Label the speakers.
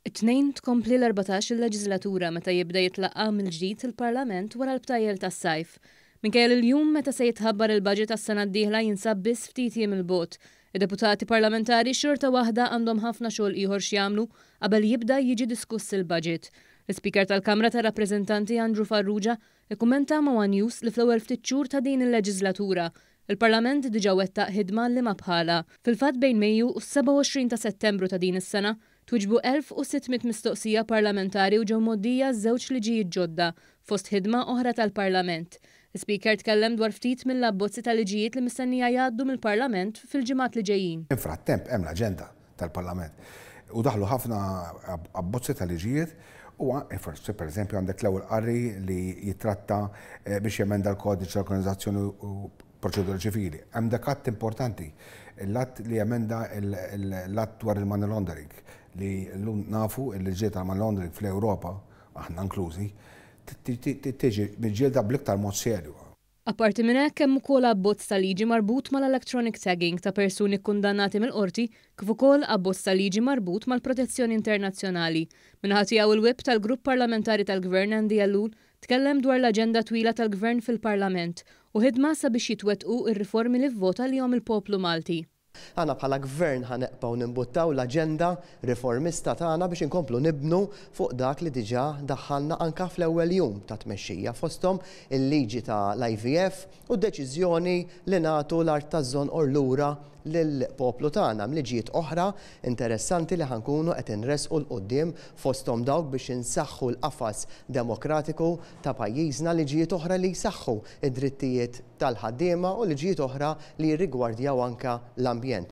Speaker 1: It-Tnejn tkompli l-14 il-leġislatura meta jibda jitlaqqa' mill-ġdid il-Parlament wara l-btajjel tas-sajf. Minkejja li l-jum meta se jitħabbar il-budget għas-sena d-dieħla jinsab biss ftit jiem 'il bogħod, id-deputati parlamentari xorta waħda għandhom ħafna xogħol ieħor x'jagħmlu qabel jibda jiġi diskuss il-budget. L-Ispeaker tal-Kamra tar-Rappreżentanti Andrew Farrugia ikkummenta ma' one News li fl-ewwel ftit xhur ta' din il-leġislatura, il-Parlament diġà wettaq ħidma liema bħalha. Fil-fatt bejn Mejju u s-27 ta' Settembru ta' din is-sena, Twieġbu 1,600 mistoqsija parlamentari u ġew mgħoddija żewġ liġijiet ġodda, fost ħidma oħra tal-Parlament. L-Ispeaker tkellem dwar ftit mill-abbozzi ta' liġijiet li mistennija jgħaddu mill-Parlament fil-ġimgħat li ġejjin.
Speaker 2: Infrattemp hemm l-aġenda tal-Parlament u daħlu ħafna abbozzi ta' liġijiet u forsi pereżempju għandek l-ewwel qari li jittratta biex jemenda l-Kodiċi tal-Organizzazzjoni u proċedura ċivili. Hemm dak att importanti, l-att li jemenda l-att dwar il-money laundering li llum nafu li l-ġlieda tal-money laundering fl-Ewropa, aħna inklużi, tiġi miġġielda bl-iktar mod serju.
Speaker 1: Apparti minn hekk hemm ukoll abbozz ta' liġi marbut mal-electronic tagging ta' persuni kkundannati mill-Qorti kif ukoll abbozz ta' liġi marbut mal-protezzjoni internazzjonali. Min-naħa tiegħu il-Whip tal-Grupp Parlamentari tal-Gvern Andy Ellul Tkellem dwar l-aġenda twila tal-Gvern fil-Parlament u ħidma sabiex jitwettqu r-riformi li vvota għalihom il-poplu Malti.
Speaker 3: Aħna bħala Gvern ħa neqbgħu nimbuttaw l-aġenda riformista tagħna biex inkomplu nibnu fuq dak li diġà daħħalna anke fl-ewwel jum ta' tmexxija, fosthom il-liġi ta' l-IVF u d-deċiżjoni li nagħtu l-art taż-Żonqor lura lill-poplu tagħna. Hemm liġijiet oħra interessanti li ħa nkunu qed inressqu 'l quddiem fosthom dawk biex insaħħu l-qafas demokratiku ta' pajjiżna, liġijiet oħra li jsaħħu d-drittijiet tal-ħaddiema u liġijiet oħra li jirrigwardjaw anke l-ambjent.